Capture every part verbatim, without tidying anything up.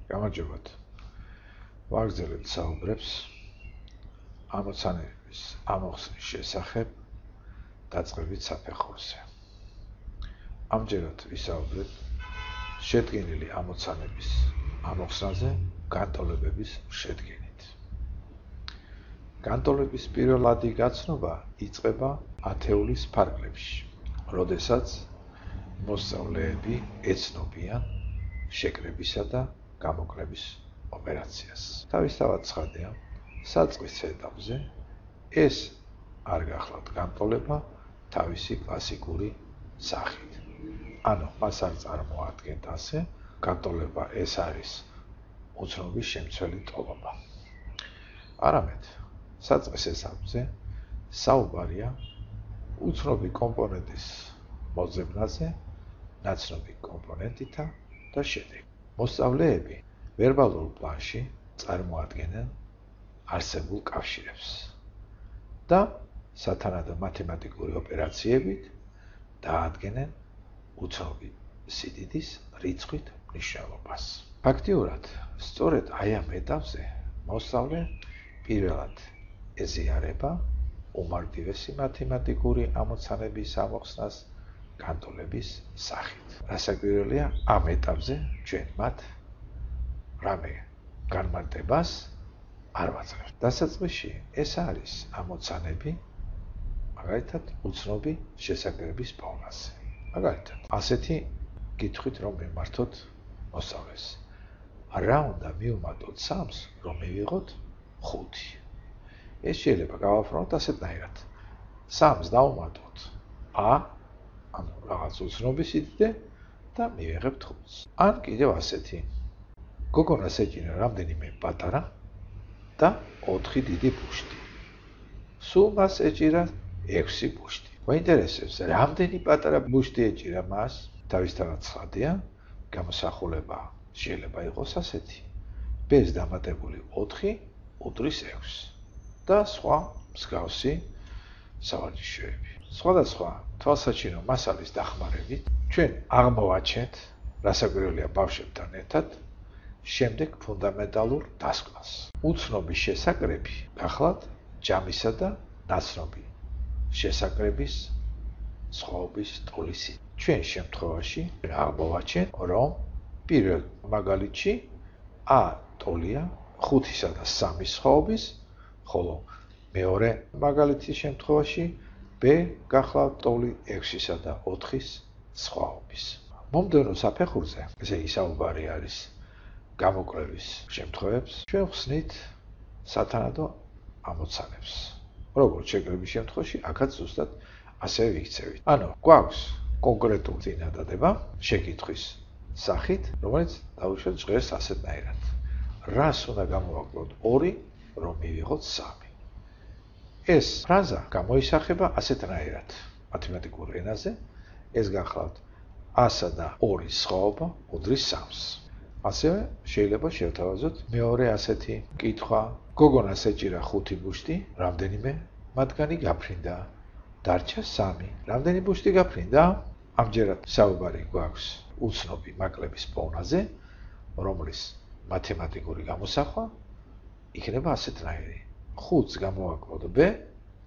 გამარჯობათ. ვაგრძელებთ საუბრებს ამოცანების ამოხსნის შესახებ დაწყებით საფეხურზე. ამჯერად ვისაუბრეთ შედგენილი ამოცანების ამოხსნაზე განტოლებების შედგენით. განტოლების პირველადი გაცნობა იწყება ათეულის ფარგლებში, როდესაც მოსწავლეები ეცნობიან შეკრებისა და გამოკლების ოპერაციას. თავისთავად ცხადია, საწყის ეტაპზე ეს არ გახლავთ განტოლება თავისი კლასიკური სახით. ანუ მას არ წარმოადგენთ ასე, განტოლება ეს არის უცნობის შემცველი ტოლობა. არამედ საწყის ეტაპზე საუბარია უცნობი კომპონენტის მოძებნაზე ნაცნობი კომპონენტითა და შედეგი. მოსწავლეები ვერბალურ პლანში წარმოადგენენ არსებულ კავშირებს და სათანადო მათემატიკური ოპერაციებით დაადგენენ უცნობი სიდიდის რიცხვით მნიშვნელობას. ფაქტიურად, სწორედ აი ამ ეტაპზე მოსწავლე პირველად ეზიარება უმარტივესი მათემატიკური ამოცანების ამოხსნას განტოლების სახით. რასაკვირველია, ამ ეტაპზე ჩვენ მათ რამე განმარტებას არ ვაწყებთ. დასაწყისში ეს არის ამოცანები, მაგალითად, უცნობი შესაკრების პოვნაზე. მაგალითად, ასეთი კითხვით რომ მიმართოთ მოსწავლეს. რა უნდა მივუმატოთ სამს, რომ მივიღოთ ხუთი? ეს შეიძლება გავაფრთხილოთ ასეთნაირად. სამს დავუმატოთ a, ანუ რაღაც უცნობი სიდიდე და მივიღებთ ხუთს. ან კიდევ ასეთი. გოგონას ეჭირა რამდენიმე პატარა და ოთხი დიდი ბუშტი. სულ მას ეჭირა ექვსი ბუშტი. მოინტერესებს, რამდენი პატარა ბუშტი ეჭირა მას? თავისთავად ცხადია, გამოსახულება შეიძლება იყოს ასეთი. b-ს დამატებული ოთხი უდრის ექვსს და სხვა მსგავსი სავარჯიშოები. სხვადასხვა თვალსაჩინო მასალის დახმარებით ჩვენ აღმოვაჩენთ, რასაკვირველია ბავშვებთან ერთად, შემდეგ ფუნდამენტალურ დასკვნას. უცნობის შესაკრები გახლავთ ჯამისა და ნაცნობი შესაკრების სხვაობის ტოლის. ჩვენ შემთხვევაში აღმოვაჩენთ, რომ პირველ მაგალითში a ტოლია ხუთისა და სამის სხვაობის, ხოლო მეორე მაგალითის შემთხვევაში b გახლავთ ტოლი ექვსისა და ოთხის სხვაობის. მომდევნო საფეხურზე, ესე იგი საუბარი არის გამოკლების შემთხვევებს, ჩვენ ვხსნით სათანადო ამოცანებს. როგორც შეკრების შემთხვევაში, აქაც ზუსტად ასევე ვიქცევით. ანუ გვაქვს კონკრეტული წინადადება შეკითხვის სახით, რომელიც დავუშვათ ჟღერს ასეთნაირად. რას უნდა გამოვაკლოთ ორი, რომ მივიღოთ სამი? ეს ფრაზა გამოისახება ასეთნაირად. მათემატიკურ ენაზე ეს გახლავთ a-სა და ორის სხვაობა უდრის სამს. ასევე შეიძლება შევთავაზოთ მეორე ასეთი კითხვა. გოგონას ეჭირა ხუთი ბუშტი, რამდენიმე მათგანი გაფრინდა? დარჩა სამი. რამდენი ბუშტი გაფრინდა? ამჯერად საუბარი გვაქვს უცნობი მაკლების პოვნაზე, რომლის მათემატიკური გამოსახვა იქნება ასეთნაირი. ხუთს გამოვაკლოთ b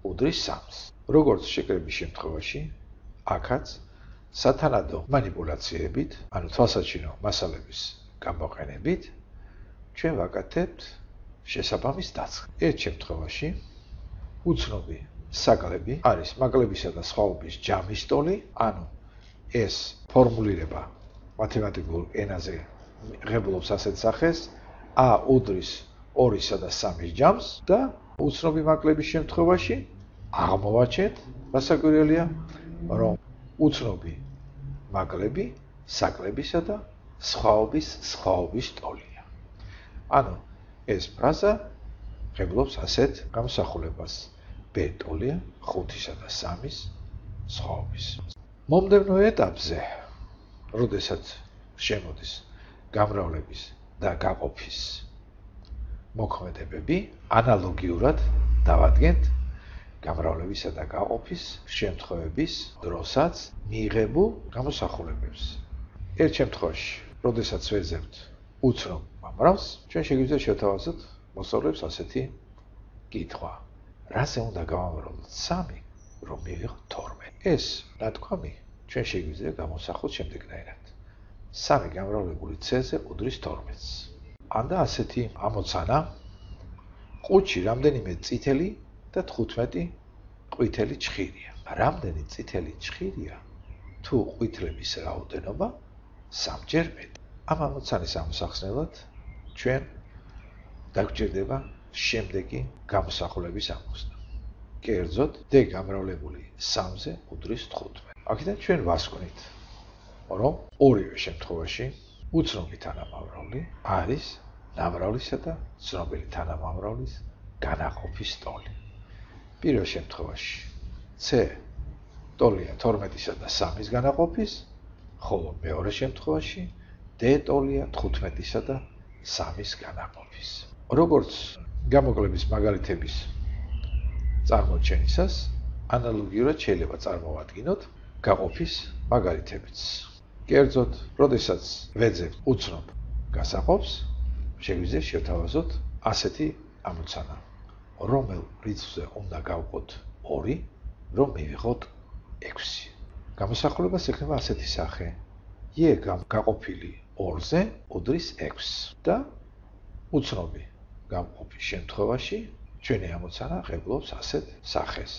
უდრის სამს. როგორც შეკრების შემთხვევაში, აქაც სათანადო მანიპულაციებით, ანუ თვალსაჩინო მასალების გამოყენებით, ჩვენ ვაკეთებთ შესაბამის დაწყებას. ერთ შემთხვევაში უცნობი საკლები არის მაგლებისა და სხვაობის ჯამის ტოლი, ანუ ეს ფორმულირება მათემატიკურ ენაზე ღებულობს ასეთ სახეს a უდრის ორისა და სამის ჯამს და უცნობი მაკლების შემთხვევაში აღმოვაჩენთ, რასაკვირველია, რომ უცნობი მაკლები საკლებისა და სხვაობის სხვაობის ტოლია. ანუ ეს ფრაზა ღებულობს ასეთ გამოსახულებას. b ტოლია ხუთისა და სამის სხვაობის. მომდევნო ეტაპზე, როდესაც შემოდის გამრავლების და გაყოფის მოქმედებები, ანალოგიურად დავადგენთ გამრავლებისა და გაყოფის შემთხვევების დროსაც მიიღებულ გამოსახულებებს. ერთ შემთხვევაში, როდესაც ვეძებთ უცნობ მომრავლს, ჩვენ შეგვიძლია შევთავაზოთ მოსწავლეებს ასეთი კითხვა. რაზე უნდა გავამრავლოთ სამი, რომ მივიღოთ თორმეტი? ეს ნათქვამი ჩვენ შეგვიძლია გამოსახოთ შემდეგნაირად. სამი გამრავლებული c-ზე უდრის თორმეტს. ანდა ასეთი ამოცანა ყუთში რამდენიმე წითელი და თხუთმეტი ყვითელი ჩხირია. რამდენი წითელი ჩხირია თუ ყვითლების რაოდენობა სამჯერ მეტი. ამ ამოცანის ამოსახსნელად ჩვენ დაგვჭირდება შემდეგი გამოსახულების ამოხსნა. კერძოდ, d გამრავლებული სამზე უდრის თხუთმეტი. აქედან ჩვენ ვასკვნით, რომ ორივე შემთხვევაში უცნობი თანამამრავლი არის ნამრავლისა და ცნობილი თანამამრავლის განაყოფის ტოლი. პირველ შემთხვევაში c ტოლია თორმეტისა და სამის განაყოფის, ხოლო მეორე შემთხვევაში d ტოლია თხუთმეტისა და სამის განაყოფის. როგორც გამოკლების მაგალითების წარმოჩენისას, ანალოგიურად შეიძლება წარმოვადგინოთ გაყოფის მაგალითებიც. კერძოდ, როდესაც ვეძებთ უცნობ გასაყოფს, შეგვიძლია შევთავაზოთ ასეთი ამოცანა. რომელ რიცხვზე უნდა გავყოთ ორი, რომ მივიღოთ ექვსი. გამოსახულებას ექნება ასეთი სახე. e გაყოფილი ორზე უდრის ექვსს და უცნობი გამყოფის შემთხვევაში ჩვენი ამოცანა ღებულობს ასეთ სახეს.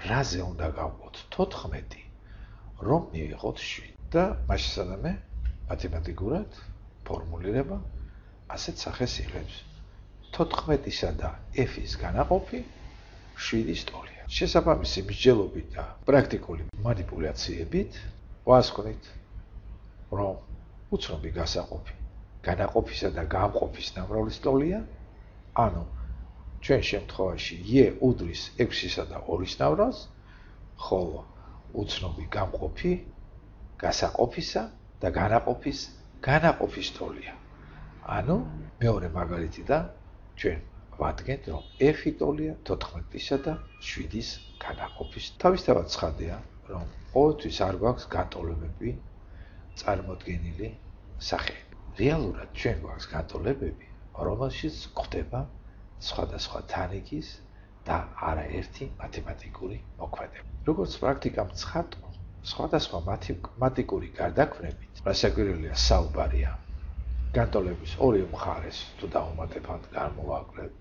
რაზე უნდა გავყოთ თოთხმეტი, რომ მივიღოთ შვიდი. და მასშტაბზე მათემატიკურად ფორმულირება ასეთ სახეს იღებს. თოთხმეტისა და f-ის განაყოფი შვიდის ტოლია. შესაბამისი მსჯელობით და პრაქტიკული манипуляციებით ვასკვნით, რომ უცნობი გასაყოფი განაყოფისა და გამყოფის ნამრავლის ტოლია, ანუ ჩვენ შემთხვევაში e უდრის ექვსისა და ორის ნამრავლს, ხოლო უცნობი გამყოფი გასაყოფისა და განაყოფის განაყოფის ტოლია. ანუ მეორე მაგალითიდან ჩვენ ვადგენთ, რომ f-ი ტოლია თოთხმეტისა და შვიდის განაყოფის. თავისთავად ცხადია, რომ ყოველთვის არ გვაქვს განტოლებები წარმოდგენილი სახეები. რეალურად ჩვენ გვაქვს განტოლებები, რომელშიც გვხვდება სხვადასხვა თანიგის და არაერთი მათემატიკური მოქმედება. როგორც პრაქტიკამ ცხადყო, სხვადასხვა მათემატიკური გარდაქმნებით, რასაკვირველია საუბარია, განტოლების ორი მხარეს თუ დაუმატებად განმოვაკლებთ,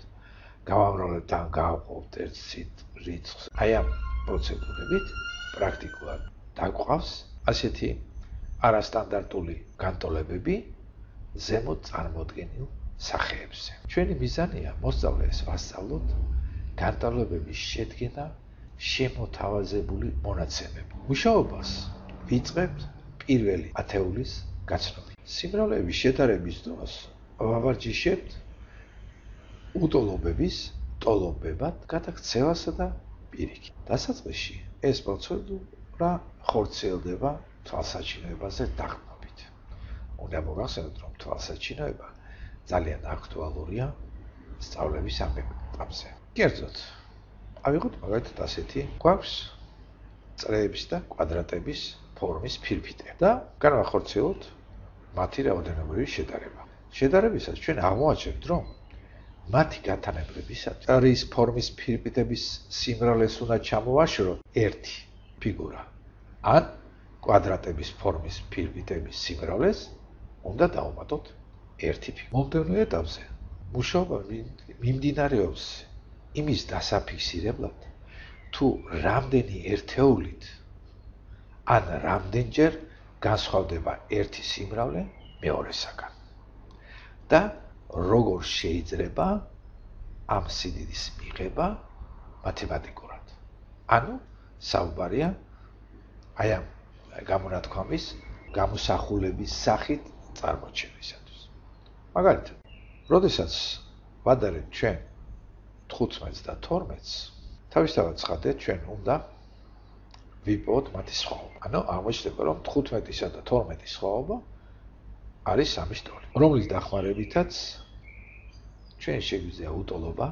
გავამრავლებთ ან გავყავთ ერთ რიცხვს. აი ამ პროცედურებით პრაქტიკულად დაგვყავს ასეთი არასტანდარტული განტოლებები ზემოთ წარმოდგენილ სახეებზე. ჩვენი მიზანია მოსწავლეს ვასწავლოთ განტოლებების შედგენა შემოთავაზებული მონაცემები. მუშაობას ვიწყებთ პირველი ათეულის გაცნობით. სიმრავლეების შედარების დროს ვავარჯიშებთ უტოლობების ტოლობებად გადაქცევასა და პირიქით. დასაწყისში ეს პროცედურა ხორციელდება თვალსაჩინოებაზე დაყრდნობით. უნდა მოგახსენოთ, რომ თვალსაჩინოება ძალიან აქტუალურია სწავლების ამ ეტაპზე. კერძოდ, ავიღოთ მაგალითად ასეთი, გვაქვს წრეების და კვადრატების ფორმის ფირფიტები და განვახორციელოთ მათი რაოდენობრივი შედარება. შედარებისას ჩვენ აღმოაჩენთ, რომ მათი გათანაბრებისას წრის ფორმის ფირფიტების სიმრავლეს უნდა ჩამოვაშოროთ ერთი ფიგურა. ან კვადრატების ფორმის ფირფიტების სიმრავლეს უნდა დავუმატოთ ერთი ფიგურა. მომდევნო ეტაპზე მუშაობა მიმდინარეობს იმის დასაფიქსირებლად, თუ რამდენი ერთეულით ან რამდენჯერ განსხვავდება ერთი სიმრავლე მეორესაგან და როგორ შეიძლება ამ სიდიდის მიღება მათემატიკურად. ანუ საუბარია აი ამ გამონათქვამის გამოსახულების სახით წარმოჩენისათვის. მაგალითად, როდესაც ვადარებთ ჩვენ თხუთმეტს და თორმეტს, თავისთავად ცხადეთ, ჩვენ უნდა ვიპოვოთ მათი სხვაობა. ანუ აღმოჩნდება, რომ თხუთმეტისა და თორმეტის სხვაობა არის სამის ტოლი, რომლის დახმარებითაც ჩვენ შეგვიძლია უტოლობა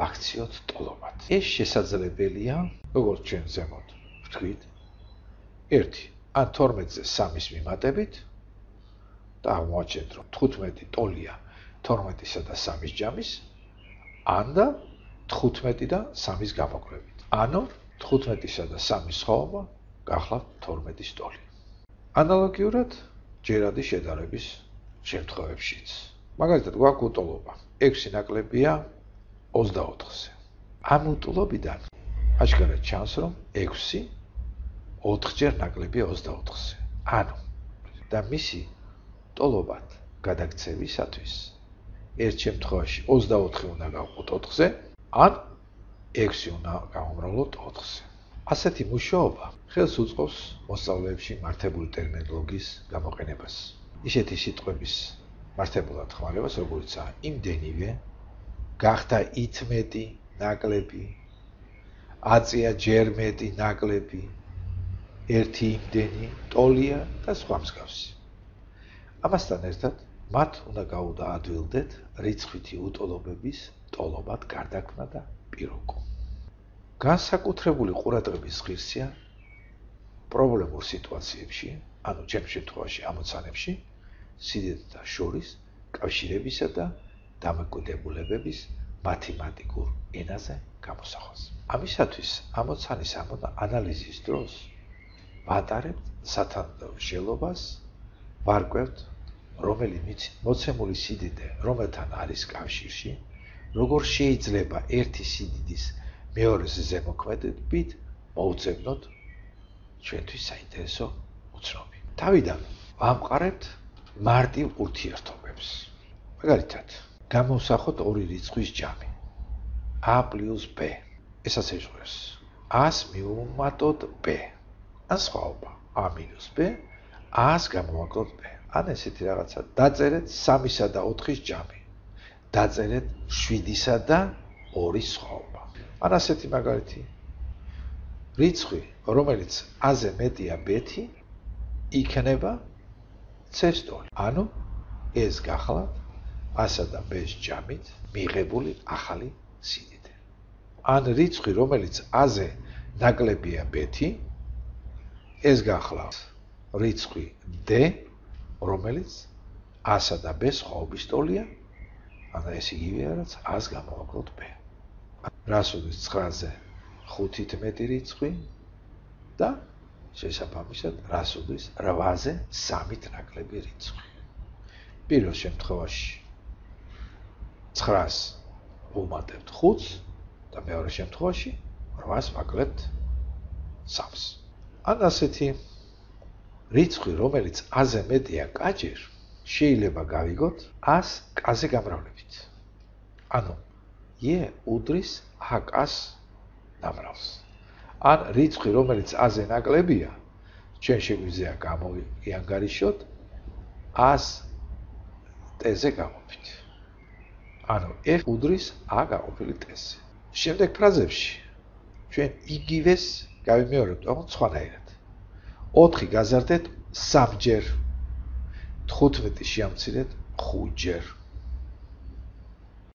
ვაქციოთ ტოლობად. ეს შესაძლებელია, როგორც ჩვენ ზემოთ ვთქვით, ერთი ან თორმეტზე სამის მიმატებით, და აღმოაჩენთ, რომ თხუთმეტი ტოლია თორმეტისა და სამის ჯამის, ან და თხუთმეტი და სამის გამოკლებით. ანუ თხუთმეტისა და სამის სხვაობა გახლავთ თორმეტის ტოლი. ანალოგიურად ჯერადი შედარების შემთხვევებშიც. მაგალითად, გვაქვს უტოლობა ექვსი ნაკლებია ოცდაოთხზე. ამ უტოლობიდან აჩქარად ჩანს, რომ ექვსი ოთხჯერ ნაკლებია ოცდაოთხზე. ანუ და მისი ტოლობად გადაქცევისათვის ერთ შემთხვევაში ოცდაოთხი უნდა გავყოთ ოთხზე, ან ექვსი უნდა გავუმრავლოთ ოთხზე. ასეთი მუშაობა ხელს უწყობს მოსწავლეებში მართებული ტერმინოლოგიის გამოყენებას. ისეთი სიტყვების მართებულად ხმარებას, როგორიცაა იმდენივე, გახდა ითმეტი ნაკლები, აწია ჯერ მეტი ნაკლები, ერთი იმდენი ტოლია და სხვა მსგავსი. ამასთან ერთად მათ უნდა გაუდაადვილდეთ რიცხვითი უტოლობების ტოლობად გარდაქმნა და პიროკო. განსაკუთრებული ყურადღების ღირსია პრობლემურ სიტუაციებში, ანუ ჩემ შემთხვევაში ამოცანებში, სიდიდეთა შორის კავშირებისა და დამოკიდებულებების მათემატიკურ ენაზე გამოსახვას. ამისათვის ამოცანის ანალიზის დროს ვატარებთ სათანადო-მსჯელობას, ვარკვევთ, რომელი მოცემული სიდიდე რომელთან არის კავშირში, როგორ შეიძლება ერთი სიდიდის მეორეს ზემოქმედებით მოუწებნოთ ჩვენთვის საინტერესო უცნობი. თავიდან ვამყარებთ მარტივ ურთიერთობებს. მაგალითად, გამოვსახოთ ორი რიცხვის ჯამი a პლუს b. ესაც ეჟღერს a-ს მივუმატოთ b. ან სხვაობა a მინუს b, a-ს გამოვაკლოთ b. ან ესეთი რაღაცა დაწერეთ სამისა და ოთხის ჯამი. დაწერეთ შვიდისა და ორის სხვაობა. ან ასეთი მაგალითი. რიცხვი, რომელიც a-ზე მეტია b-ი, იქნება c-ს ტოლი. ანუ ეს გახლავთ a-სა და b-ს ჯამით მიღებული ახალი სიდიდე. ან რიცხვი, რომელიც a-ზე ნაკლებია b-ი, ეს გახლავთ რიცხვი d, რომელიც a-სა და b-ს სხვაობის ტოლია, ან ეს იგივეა, რაც a-ს გამოვაკლოთ b. რას უდის ცხრაზე ხუთით მეტი რიცხვი და შესაბამისად რას უდის რვაზე სამით ნაკლები რიცხვი. პირველ შემთხვევაში ცხრას ვუმატებთ ხუთს და მეორე შემთხვევაში რვას ვაკლებთ სამს. ან ასეთი რიცხვი, რომელიც a-ზე მეტია კაჯერ, შეიძლება გავიგოთ a-ს k-ზე გამრავლებით. ანუ e უდრის a-k-ს ნამრავლს. ან რიცხვი, რომელიც a-ზე ნაკლებია, ჩვენ შეგვიძლია გამოვიანგარიშოთ a-ს t-ზე გაყოფით. ანუ f უდრის a გაყოფილი t-ზე. შემდეგ ფრაზებში ჩვენ იგივეს გავიმეორებთ, თუმცა სხვანაირად. ოთხი გაზარდეთ სამჯერ, თხუთმეტი შეამცირეთ ხუთჯერ.